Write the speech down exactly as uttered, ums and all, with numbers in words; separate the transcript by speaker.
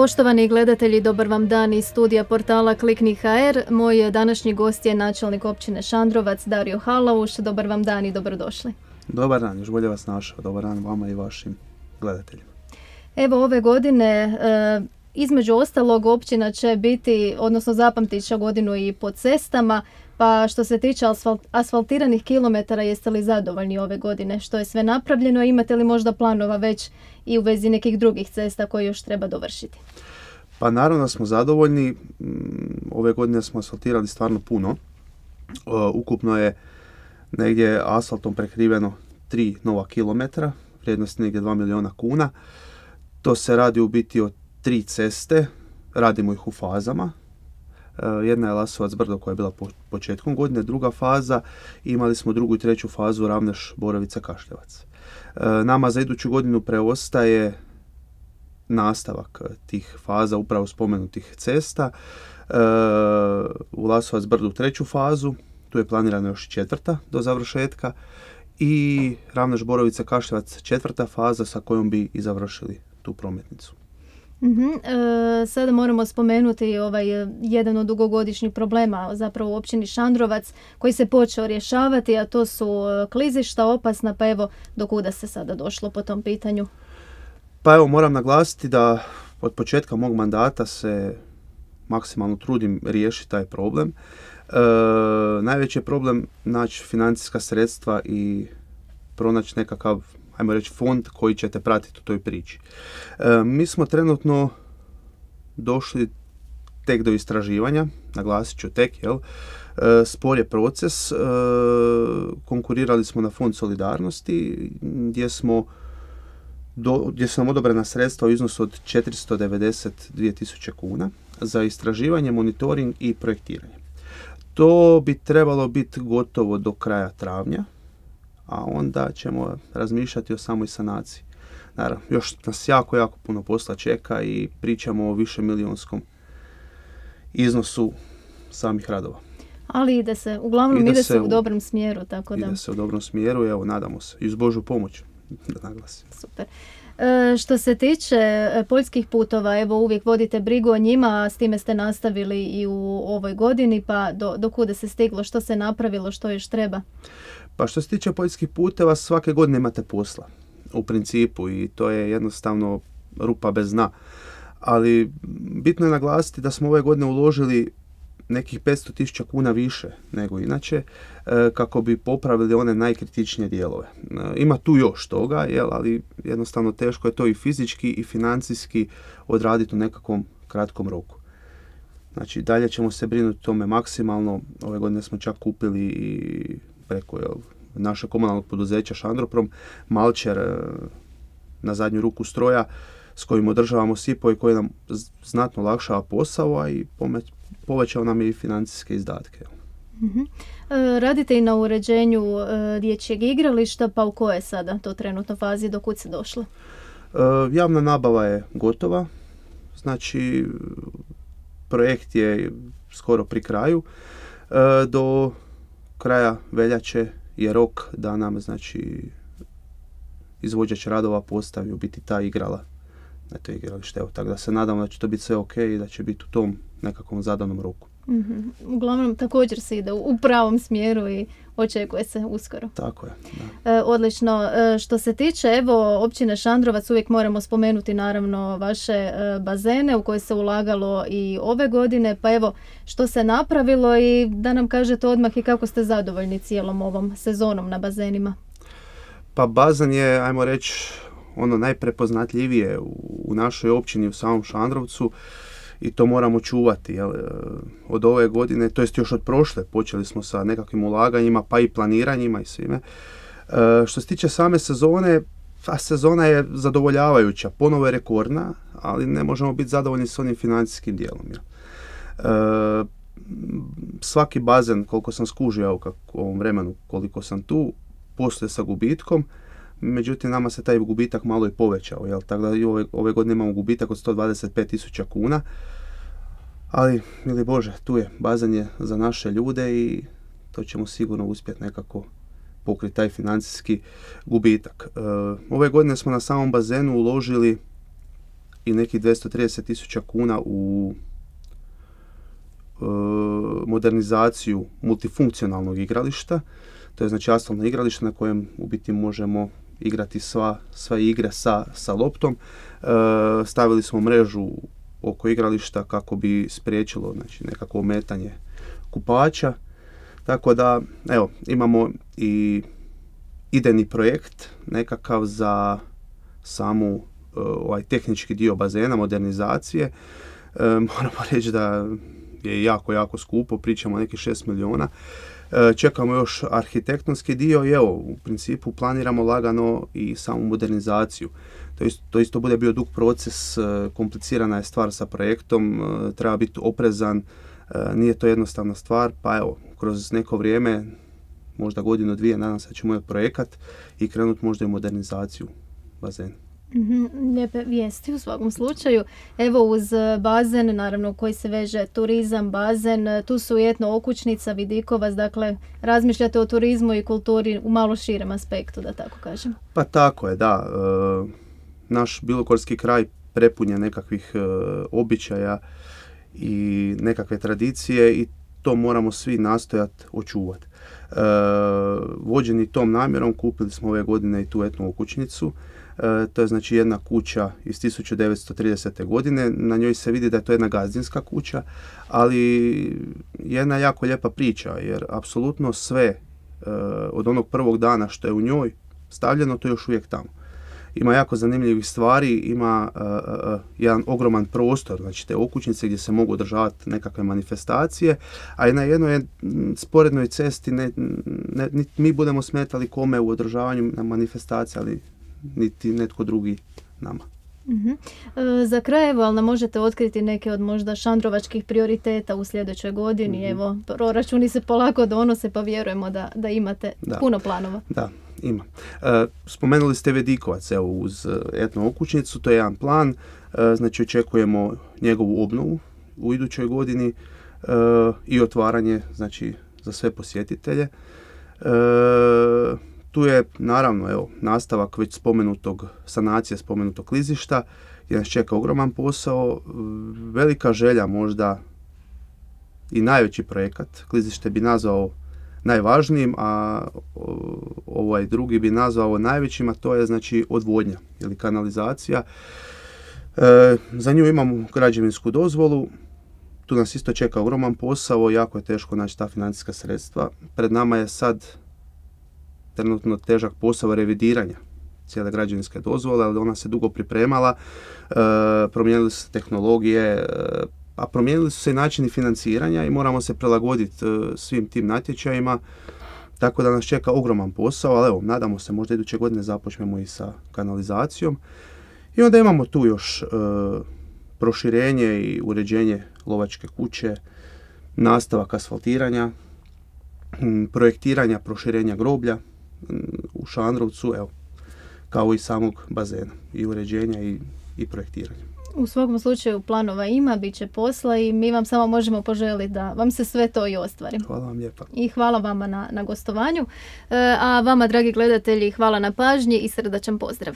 Speaker 1: Poštovani gledatelji, dobar vam dan iz studija portala Klikni ha er. Moj današnji gost je načelnik općine Šandrovac, Dario Halauš. Dobar vam dan i dobrodošli.
Speaker 2: Dobar dan, još bolje vas našao. Dobar dan vama i vašim gledateljima.
Speaker 1: Evo ove godine, e, između ostalog, općina će biti, odnosno zapamtit će godinu i po cestama, pa što se tiče asfalt, asfaltiranih kilometara, jeste li zadovoljni ove godine? Što je sve napravljeno? Imate li možda planova već i u vezi nekih drugih cesta koje još treba dovršiti?
Speaker 2: Pa naravno smo zadovoljni. Ove godine smo asfaltirali stvarno puno. Ukupno je negdje asfaltom prekriveno tri nova kilometra, vrijednost negdje dva milijuna kuna. To se radi u biti o tri ceste, radimo ih u fazama. Jedna je Lasovac Brdo koja je bila po početkom godine, druga faza, imali smo drugu i treću fazu Ravneš Borovica Kašljevac. Nama za iduću godinu preostaje nastavak tih faza upravo spomenutih cesta. U Lasovac Brdu treću fazu, tu je planirana još četvrta do završetka, i Ravneš Borovica Kašljevac četvrta faza sa kojom bi i završili tu prometnicu.
Speaker 1: Uh-huh. E, sada moramo spomenuti ovaj jedan od dugogodišnjih problema zapravo u općini Šandrovac koji se počeo rješavati, a to su klizišta opasna, pa evo do kuda se sada došlo po tom pitanju?
Speaker 2: Pa evo moram naglasiti da od početka mog mandata se maksimalno trudim riješiti taj problem. E, najveći je problem naći financijska sredstva i pronaći nekakav, ajmo reći, fond koji ćete pratiti u toj priči. E, mi smo trenutno došli tek do istraživanja, naglasit ću tek, jel? E, spor je proces, e, konkurirali smo na fond solidarnosti gdje smo do, gdje su nam odobrena sredstva u iznosu od četiristo devedeset dvije tisuće kuna za istraživanje, monitoring i projektiranje. To bi trebalo biti gotovo do kraja travnja, a onda ćemo razmišljati o samoj sanaciji. Naravno, još nas jako, jako puno posla čeka i pričamo o višemilijunskom iznosu samih radova.
Speaker 1: Ali ide se, uglavnom ide, ide se u, u dobrom smjeru, tako da...
Speaker 2: Ide se u dobrom smjeru, evo, nadamo se. I uz Božju pomoć, da naglasim.
Speaker 1: Super. E, što se tiče poljskih putova, evo uvijek vodite brigu o njima, s time ste nastavili i u ovoj godini, pa do, do kuda se stiglo, što se napravilo, što još treba?
Speaker 2: Pa što se tiče poljskih puteva, svake godine imate posla u principu i to je jednostavno rupa bez dna. Ali bitno je naglasiti da smo ove godine uložili nekih petsto tisuća kuna više nego inače kako bi popravili one najkritičnije dijelove. Ima tu još toga, jel, ali jednostavno teško je to i fizički i financijski odraditi u nekakvom kratkom roku. Znači dalje ćemo se brinuti o tome maksimalno. Ove godine smo čak kupili i preko jel, naše komunalnog poduzeća Šandroprom malčer na zadnju ruku stroja s kojim održavamo sipo i koji nam znatno lakšava posao, a i povećao nam je i financijske izdatke.
Speaker 1: Uh-huh. E, radite i na uređenju e, dječjeg igrališta, pa u koje sada to trenutno fazi, do kud se došlo?
Speaker 2: E, javna nabava je gotova, znači projekt je skoro pri kraju. E, do kraja veljače je rok da nam, znači, izvođač radova postavi u biti ta igrala na to igralište. Evo, tako da se nadamo da će to biti sve ok i da će biti u tom nekakvom zadanom roku.
Speaker 1: Mm-hmm. Uglavnom također se ide u pravom smjeru i očekuje se uskoro.
Speaker 2: Tako je. Da.
Speaker 1: E, odlično. E, što se tiče evo općine Šandrovac, uvijek moramo spomenuti naravno vaše e, bazene u koje se ulagalo i ove godine, pa evo što se napravilo i da nam kažete odmah i kako ste zadovoljni cijelom ovom sezonom na bazenima.
Speaker 2: Pa bazen je, ajmo reći, ono najprepoznatljivije u, u našoj općini, u samom Šandrovcu. I to moramo čuvati. Jel? Od ove godine, to jest još od prošle, počeli smo sa nekakvim ulaganjima, pa i planiranjima i svime. E, što se tiče same sezone, a sezona je zadovoljavajuća, ponovo je rekordna, ali ne možemo biti zadovoljni s onim financijskim dijelom. Jel? E, svaki bazen, koliko sam skužio u ovom vremenu, koliko sam tu, posluje sa gubitkom. Međutim, nama se taj gubitak malo i povećao, jel? Tako da i ove, ove godine imamo gubitak od sto dvadeset pet tisuća kuna, ali, mili Bože, tu je, bazen je za naše ljude i to ćemo sigurno uspjeti nekako pokriti taj financijski gubitak. E, ove godine smo na samom bazenu uložili i nekih dvjesto trideset tisuća kuna u e, modernizaciju multifunkcionalnog igrališta. To je znači asfaltno igralište na kojem u biti možemo igrati sva, sva igre sa, sa loptom. E, stavili smo mrežu oko igrališta kako bi spriječilo znači, nekako ometanje kupača. Tako da, evo, imamo i idejni projekt nekakav za samu uh, ovaj tehnički dio bazena, modernizacije. E, moramo reći da je jako, jako skupo, pričamo o nekih šest milijuna. E, čekamo još arhitektonski dio i evo, u principu planiramo lagano i samu modernizaciju. To isto, to isto bude bio dug proces, komplicirana je stvar sa projektom, treba biti oprezan, nije to jednostavna stvar, pa evo, kroz neko vrijeme, možda godinu, dvije, nadam se da ćemo imati projekat i krenuti možda i modernizaciju bazena.
Speaker 1: Mm-hmm, lijepe vijesti u svakom slučaju. Evo uz bazen, naravno koji se veže turizam, bazen, tu su i etno okućnica, Vidikovac, dakle razmišljate o turizmu i kulturi u malo širem aspektu, da tako kažem.
Speaker 2: Pa tako je, da. E, naš bilogorski kraj prepun je nekakvih e, običaja i nekakve tradicije i to moramo svi nastojati očuvati. E, vođeni tom namjerom kupili smo ove godine i tu etnu okućnicu. E, to je znači jedna kuća iz tisuću devetsto tridesete. godine. Na njoj se vidi da je to jedna gazdinska kuća, ali jedna jako lijepa priča, jer apsolutno sve e, od onog prvog dana što je u njoj stavljeno, to je još uvijek tamo. Ima jako zanimljivih stvari, ima uh, uh, jedan ogroman prostor, znači te okućnice gdje se mogu održavati nekakve manifestacije, a i na jednoj sporednoj cesti ne, ne, niti mi budemo smetali kome u održavanju na manifestacije, ali niti netko drugi nama.
Speaker 1: Uh-huh. E, za kraj, evo, ali nam možete otkriti neke od možda šandrovačkih prioriteta u sljedećoj godini, uh-huh. Evo, proračuni se polako donose, pa vjerujemo da, da imate da. puno planova.
Speaker 2: Da. Ima. E, spomenuli ste Vidikovac, evo, uz etnu okućnicu, to je jedan plan, e, znači očekujemo njegovu obnovu u idućoj godini e, i otvaranje, znači, za sve posjetitelje. E, tu je, naravno, evo, nastavak već spomenutog, sanacije spomenutog klizišta, gdje nas čeka ogroman posao, velika želja možda i najveći projekat, klizište bi nazvao najvažnijim, a ovaj drugi bi nazvao najvećim, a to je znači odvodnja ili kanalizacija. E, za nju imamo građevinsku dozvolu, tu nas isto čeka ogroman posao, jako je teško naći ta financijska sredstva. Pred nama je sad trenutno težak posao revidiranja cijele građevinske dozvole, ali ona se dugo pripremala, e, promijenili su se tehnologije, e, a promijenili su se i načini financiranja i moramo se prilagoditi uh, svim tim natječajima, tako da nas čeka ogroman posao, ali evo, nadamo se možda iduće godine započnemo i sa kanalizacijom. I onda imamo tu još uh, proširenje i uređenje lovačke kuće, nastavak asfaltiranja, m, projektiranja, proširenja groblja m, u Šandrovcu, evo, kao i samog bazena i uređenja i, i projektiranja.
Speaker 1: U svakom slučaju planova ima, bit će posla i mi vam samo možemo poželiti da vam se sve to i ostvari.
Speaker 2: Hvala vam lijepa.
Speaker 1: I hvala vama na, na gostovanju. E, a vama, dragi gledatelji, hvala na pažnji i srdačan pozdrav.